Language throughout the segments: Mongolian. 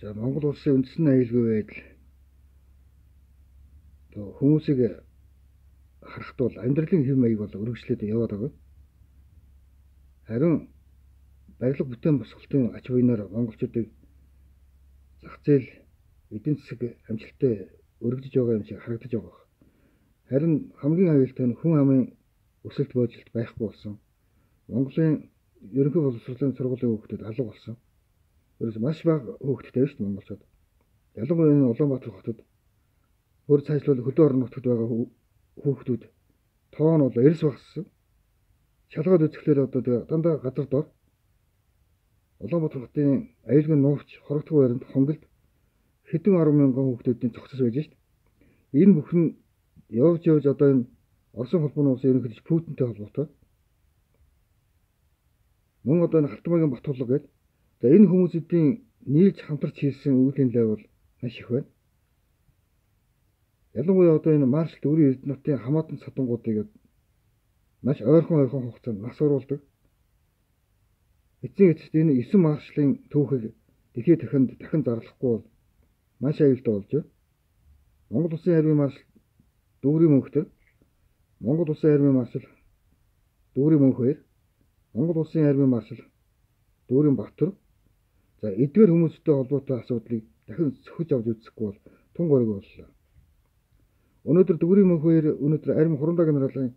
За Монгол улсын үндэсний аюулгүй байдал хүмүүсийг харахад бол амьдралын хэв маяг бол өргөжлөд яваад байгаа. Харин барилга бүтээн босголтын ач буйнаар монголчуудыг зах зээл эдийн засаг амжилттай өргөжж байгаа юм шиг харагдаж байгаа. Харин хамгийн аюултай нь хүн амын өсөлт боожлт байхгүй болсон. Монголын ерөнхий боловсролын сургуулийн хүүхдүүд алга болсон. Ерөөс маш бага хүүхдтэй шүү дээ монголчууд. Ялангуяа энэ Улаанбаатар хотод өөр цаашлуул хөдөө орон нутгад байгаа хүүхдүүд тоо нь бол эрс багассан. Шалгаад үзэхлээр одоо дандаа газар дор Улаанбаатар хотын аюулгүй нуурч хорогдох байранд хонголд хэдэн 10 мянган хүүхдүүдийн зогсож байж шít. Энэ бүхэн явж одоо энэ Оросын холбооны улсын ерөнхийлөгч Путинтэй холбоотой. Мөн одоо энэ Халтмаагийн Батулга гэдэг. За энэ хүмүүсийн нийлж хамтарч хийсэн үйл явдал бол маш их байна. Ялангуяа одоо энэ маршал Дүүрэн Эрдэнэтийн хамаатан садангуудыг маш ойрхон хугацаанд нас оруулдаг. Эцсийн эцэст энэ 9 маршалын түүхийг дэлхийд дахин зарлахгүй бол маш аюултай болж байна. Монгол улсын армийн маршал Дүүрэн Мөнхтөр, Монгол улсын армийн маршал Дүүрэн Мөнхбаяр, Монгол улсын армийн маршал Дүүрэн Баттар. За эдгээр хүмүүстэй холбоотой асуудлыг дахин сөхөж авч үзэхгүй бол тун гориг боллоо. Өнөөдөр Дүүрэн Мөнхбаяр армийн хурамдаа генералын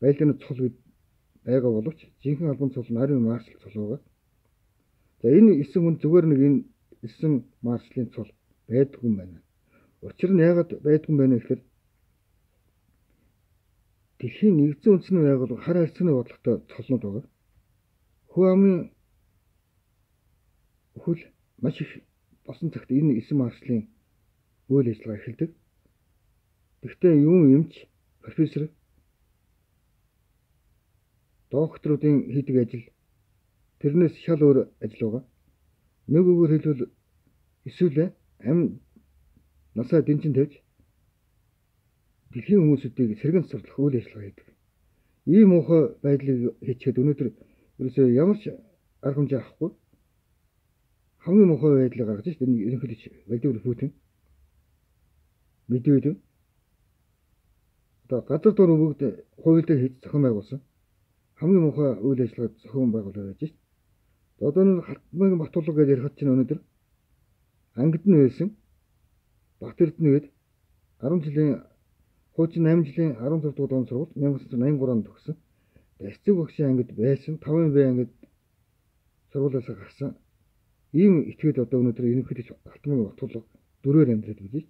байлдааны цол байгаа боловч жинхэнэ албан цол нь армийн маршал цол байгаа. За энэ 9 хүн зүгээр нэг энэ 9 маршалын цол байдгүй юм байна. Учир нь яагаад байдгүй юм бэ гэхээр дэлхийн нэгдсэн үндэсний байгууллага хар харьцааны бодлоготой цолнууд байгаа. Хүн амын хөл маш их босон цагт энэ 9 маршалын үйл ажиллагаа эхэлдэг. Гэхдээ юун эмч профессор докторуудын хийдэг ажил тэрнээс шал өөр ажил байгаа. Нэг үгээр хэлбэл эсвэл амь насаа дэнчин тавьж дэлхийн хүмүүсүүдийг сэргэн сурлах үйл ажиллагаа хийдэг. Ийм муухай байдлыг хийчихэд өнөөдөр ерөөсөө ямар ч арга хэмжээ авахгүй хамгийн муухай байдлыг гаргаж шít энэ ерөнхийлөгч Владимир Путин мэдээдээ одоо газар дор бүгд хуйлдаа хийж зохион байгуулсан хамгийн муухай үйл ажиллагаа зохион байгуулаад байж шít. Одоо энэ Халтмаагийн Батулга гэж ярихад чинь өнөөдөр ангид нь байсан Бат Эрдэнэт 10 жилийн хуучин 8 жилийн 16 дугаар он сургууль 1983 онд төгссөн. Эцэг багшийн ангид байсан 5 б ангид сургуулиас гарсан. Ийм этгээд одоо өнөөдөр ерөнхийлөгч Халтмаагийн Батулга дөрөөр амьдраад байж.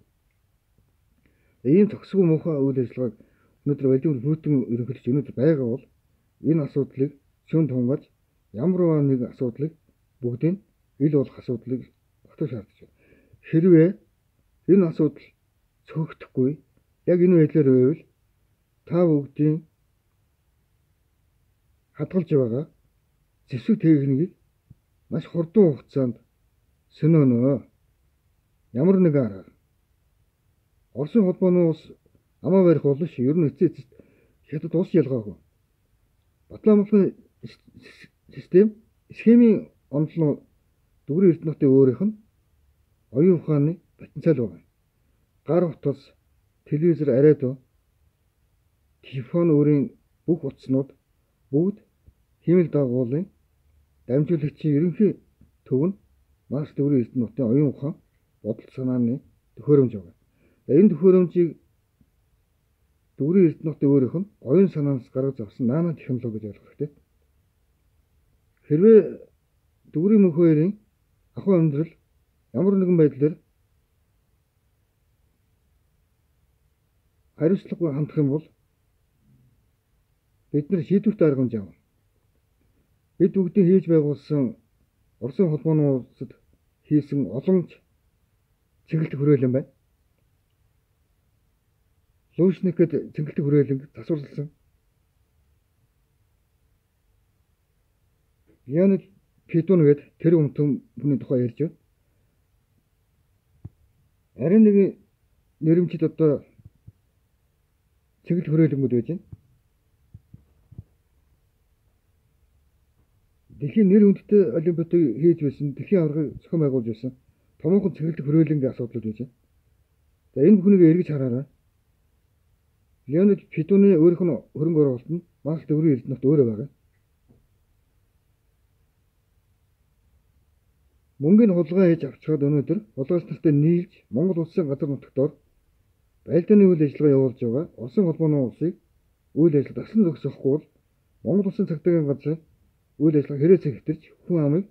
Ийм зөксгүй муухай үйл ажиллагааг өнөөдөр Владимир Путин ерөнхийлөгч өнөөдөр байгаа бол энэ асуудлыг шүн тунгааж ямар нэг асуудлыг бүгдийг ил болох асуудлыг огтоо шаардж байна. Хэрвээ энэ асуудал цөөхдөхгүй яг энэ байдлаар байвал та бүгдийн хадгалж байгаа зэвсэг техникийг маш хурдан хугацаанд сөнөөнөө. Ямар нэгэн аргаар Оросын холбооны улс амаа барих болно шүү. Ер нь эцэст хятад улс ялгаагүй. Батламжлын систем схемийн онцлог Дүүрэн Эрдэнэтийн өөрийнх нь оюун ухааны потенциал байгаа. Гар утас, телевизор, радио, телефон өөрийн бүх утаснууд бүгд хэмэл дагуулын дамжуулагчийн ерөнхий төв нь маршал Дүүрэн Эрдэнэтийн оюун ухаан бодол санааны төхөөрөмж байгаа. Энэ төхөөрөмжийг Дүүрэн Эрдэнэтийн өөрийнх нь оюун санаанаас гаргаж авсан нано технологи гэж ойлгох хэрэгтэй. Хэрвээ Дүүрэн Мөнхбаярын ахуй амьдрал ямар нэгэн байдлаар хариуцлагагүй хандах юм бол бид нар шийдвэрт арга хэмжээ авна. Бид бүгдийн хийж байгуулсан Оросын холбооны улсад хийсэн олон цэнгэлт хүрээлэн байна. Лушник гэдэг цэнгэлт хүрээлэн засварласан. Леонид Петун гэдэг тэр хүний тухай ярьж байна. Арин нэг нэрмжид одоо цэнгэлт хүрээлэнгүүд байж байна. Дэлхийн нэр хүндтэй олимпиадыг хийж байсан, дэлхийн аваргыг зохион байгуулж байсан томоохон цэвэрлэх хүрээлэнгийн асуудлууд байж байна. За энэ бүхнийг эргэж хараарай. Леонид Федуны өөрийнх нь хөрөнгө оруулалт нь Марс төврийн эрдэнэт өөрөө байгаа. Мөнгөний хулгай хийж авчгаад өнөөдөр хулгайч нартай нийлж Монгол улсын газар нутгатор байлдааны үйл ажиллагаа явуулж байгаа Оросын холбооны улсыг үйл ажиллагаа таслан зогсоохгүй бол Монгол улсын цагдаагийн газрын үйл ажиллагаа хэрэгцээ хэвтэрч хүн амыг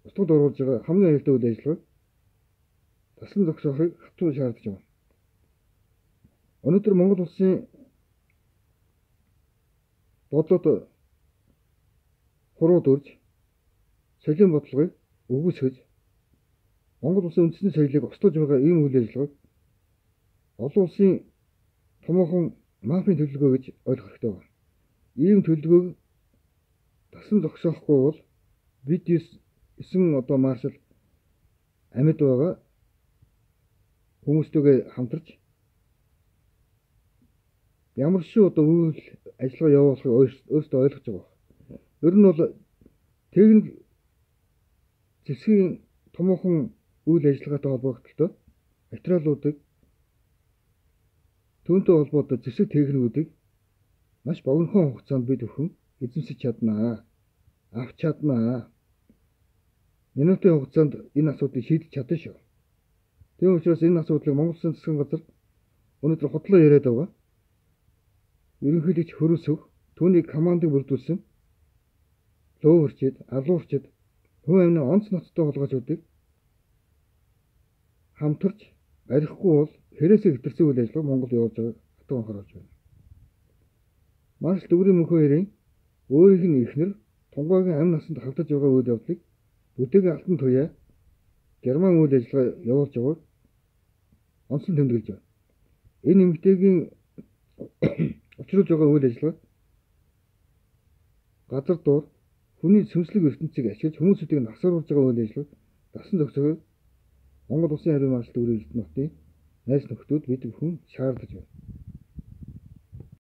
устгад оруулж байгаа хамгийн аюултай үйл ажиллагааг таслан зогсоохыг хатуу шаардж байна. Өнөөдөр Монгол улсын бодлоод хурууд өрж соёлын бодлогыг өгөөсгөж Монгол улсын үндэсний соёлыг устгаж байгаа ийм үйл ажиллагааг олон улсын томоохон мафийн төлөвлөгөө гэж ойлгох хэрэгтэй байна. Ийм төлөвлөгөөг таслан зогсоохгүй бол бид 9 одоо маршал амьд байгаа хүмүүстэйгээ хамтарч ямар шүү одоо үйл ажиллагаа явуулахыг өөрсдөө ойлгож байгаа. Ер нь бол техник зэвсгийн томоохон үйл ажиллагаатай холбогдолтой материалуудыг түүнтэй холбоотой зэвсэг техникүүдийг маш богинохон хугацаанд бид өхөн эзэмсэж чаднаа. Авч чаднаа. Минутын хугацаанд энэ асуудлыг шийдэж чадна шүү. Тийм учраас энэ асуудлыг Монгол Улсын засгийн газар өнөөдөр хотлоо яриад байгаа. Ерөнхийлөгч Хөрөөсөв түүний командыг бүрдүүлсэн лөөвөрчид, алуурчид, хүн амны онц ноцтой холгоочдыг хамтарч арихгүй бол хэрэгцээ хэтэрсэн үйл ажиллагаа Монгол явуулж байгааг хатуу анхааруулж байна. Маршал Дүүрийн мөнх хоёрын өөрийнх нь эхнэр Тунгайгийн амь насанд хавтаж байгаа үйл явдлыг бүтээгэн алтан туяа Герман үйл ажиллагаа явуулж байгааг онцлон тэмдэглэж байна. Энэ эмэгтэйгийн учруулж байгаа үйл ажиллагаа газар дуур хүний сүнслэг ертөнцийг ашиглаж хүмүүсүүдийг насааруулж байгаа үйл ажиллагааг дасан зохицохыг Монгол Улсын харийн маршал Дүүрийн эрдэнэтийн найз нөхдүүд бид бүхэн шаардаж байна.